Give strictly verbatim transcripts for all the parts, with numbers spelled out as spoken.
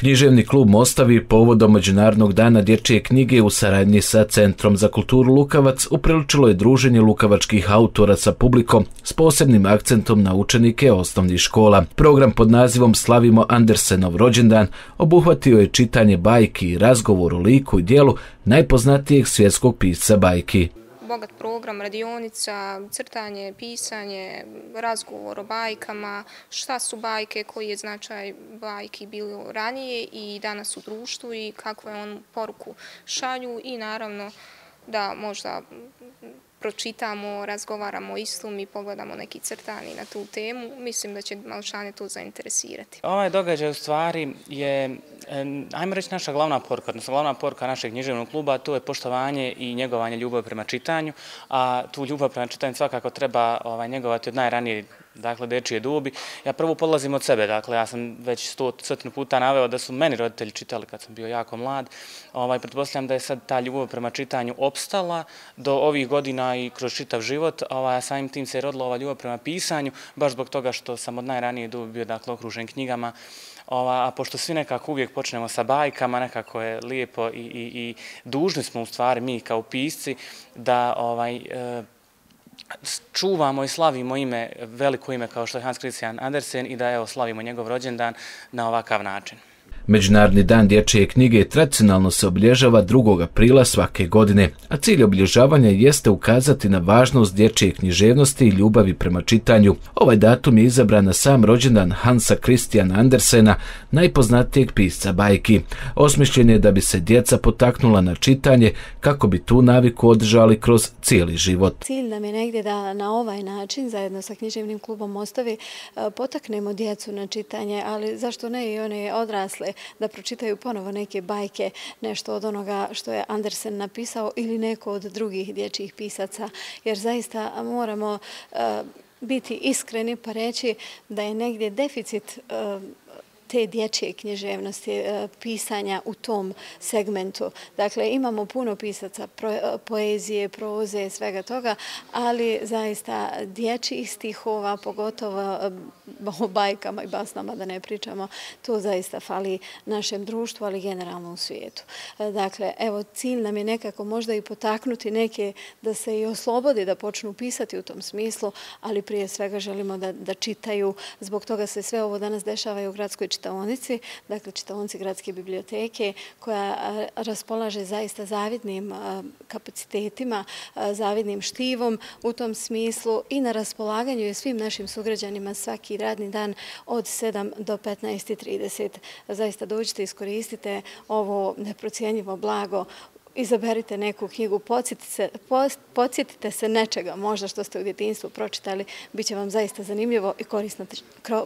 Književni klub Mostavi povodom Međunarodnog dana dječje knjige u saradnji sa Centrom za kulturu Lukavac upriličilo je druženje lukavačkih autora sa publikom s posebnim akcentom na učenike osnovnih škola. Program pod nazivom Slavimo Andersenov rođendan obuhvatio je čitanje bajki i razgovor o liku i djelu najpoznatijeg svjetskog pisca bajki. Bogat program, radionica, crtanje, pisanje, razgovor o bajkama, šta su bajke, koji je značaj bajki bilo ranije i danas u društvu i kakvu je on poruku šalju i naravno da možda pročitamo, razgovaramo o istom i pogledamo neki crtani na tu temu. Mislim da će malčane to zainteresirati. Ovaj događaj u stvari je, ajmo reći, naša glavna poruka, odnosno glavna poruka našeg književnog kluba, to je poštovanje i njegovanje ljubavi prema čitanju, a tu ljubav prema čitanju svakako treba ovaj, njegovati od najranije, dakle, dečije dobi. Ja prvo polazim od sebe, dakle, ja sam već sto, stotinu puta naveo da su meni roditelji čitali kad sam bio jako mlad. Ovaj, pretpostavljam da je sad ta ljubav prema čitanju opstala do ovih godina i kroz čitav život, ovaj, samim tim se je rodila ova ljubav prema pisanju, baš zbog toga što sam od najranije dobi bio, dakle, okružen knjigama. Ova, a pošto svi nekako uvijek počnemo sa bajkama, nekako je lijepo i, i, i dužni smo u stvari mi kao pisci da ovaj, e, čuvamo i slavimo ime, veliko ime kao što je Hans Christian Andersen i da evo slavimo njegov rođendan na ovakav način. Međunarodni dan dječje knjige tradicionalno se obilježava drugog aprila svake godine, a cilj obilježavanja jeste ukazati na važnost dječje književnosti i ljubavi prema čitanju. Ovaj datum je izabran na sam rođendan Hansa Christiana Andersena, najpoznatijeg pisca bajki. Osmišljen je da bi se djeca potaknula na čitanje kako bi tu naviku održali kroz cijeli život. Cilj nam je negdje da na ovaj način, zajedno sa književnim klubom Mostavi, potaknemo djecu na čitanje, ali zašto ne i one odrasle, da pročitaju ponovo neke bajke, nešto od onoga što je Andersen napisao ili neko od drugih dječjih pisaca, jer zaista moramo uh, biti iskreni pa reći da je negdje deficit uh, te dječje književnosti, pisanja u tom segmentu. Dakle, imamo puno pisaca poezije, proze, svega toga, ali zaista dječjih stihova, pogotovo o bajkama i basnama da ne pričamo, to zaista fali našem društvu, ali generalno u svijetu. Dakle, evo, cilj nam je nekako možda i potaknuti neke da se i oslobodi, da počnu pisati u tom smislu, ali prije svega želimo da, da čitaju. Zbog toga se sve ovo danas dešava i u gradskoj čitaonici, dakle čitaonici gradske biblioteke, koja raspolaže zaista zavidnim kapacitetima, zavidnim štivom u tom smislu i na raspolaganju je svim našim sugrađanima svaki radni dan od sedam do petnaest i trideset. Zaista dođite, iskoristite ovo neprocijenjivo blago, izaberite neku knjigu, podsjetite se, podsjetite se nečega, možda što ste u djetinjstvu pročitali, bit će vam zaista zanimljivo i korisno,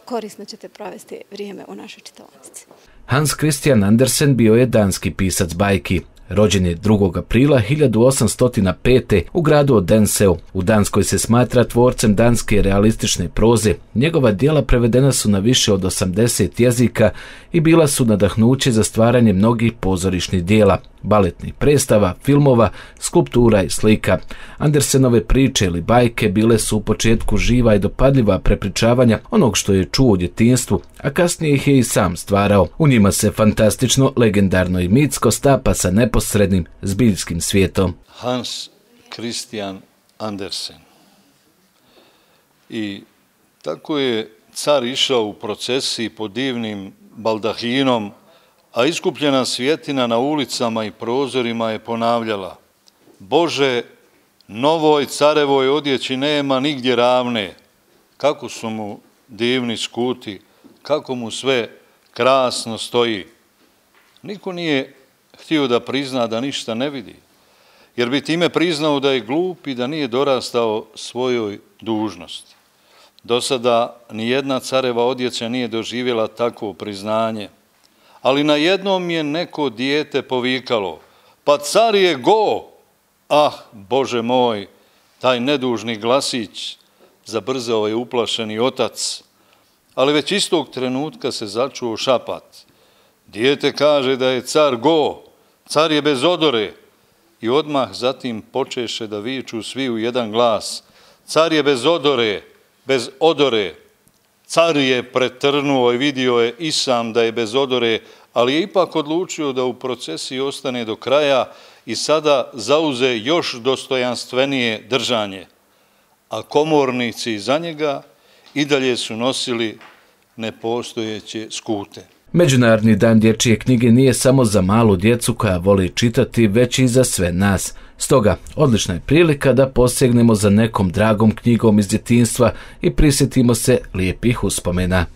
korisno ćete provesti vrijeme u našoj čitaonici. Hans Christian Andersen bio je danski pisac bajki. Rođen je drugog aprila hiljadu osamsto pete. u gradu Odenseu. U Danskoj se smatra tvorcem danske realistične proze. Njegova djela prevedena su na više od osamdeset jezika i bila su nadahnuće za stvaranje mnogih pozorišnih djela, baletnih predstava, filmova, skulptura i slika. Andersenove priče ili bajke bile su u početku živa i dopadljiva prepričavanja onog što je čuo u djetinjstvu, a kasnije ih je i sam stvarao. U njima se fantastično, legendarno i mitsko stapa sa neposrednim zbiljskim svijetom. Hans Christian Andersen. I tako je car išao u procesiji pod divnim baldahinom, a iskupljena svjetina na ulicama i prozorima je ponavljala: Bože, novoj carevoj odjeći nema nigdje ravne. Kako su mu divni skuti, kako mu sve krasno stoji. Niko nije htio da prizna da ništa ne vidi, jer bi time priznao da je glup i da nije dorastao svojoj dužnosti. Do sada nijedna careva odjeća nije doživjela takvo priznanje, ali na jednom je neko dijete povikalo: pa car je go! Ah, Bože moj, taj nedužni glasić, zabrzao je uplašeni otac, ali već istog trenutka se začuo šapat. Dijete kaže da je car go, car je bez odore, i odmah zatim počeše da viču svi u jedan glas: car je bez odore, bez odore. Car je pretrnuo i vidio je i sam da je bez odore, ali je ipak odlučio da u procesiji ostane do kraja i sada zauze još dostojanstvenije držanje, a komornici iza njega i dalje su nosili nepostojeće skute. Međunarodni dan dječje knjige nije samo za malu djecu koja voli čitati, već i za sve nas. Stoga, odlična je prilika da posegnemo za nekom dragom knjigom iz djetinjstva i prisjetimo se lijepih uspomena.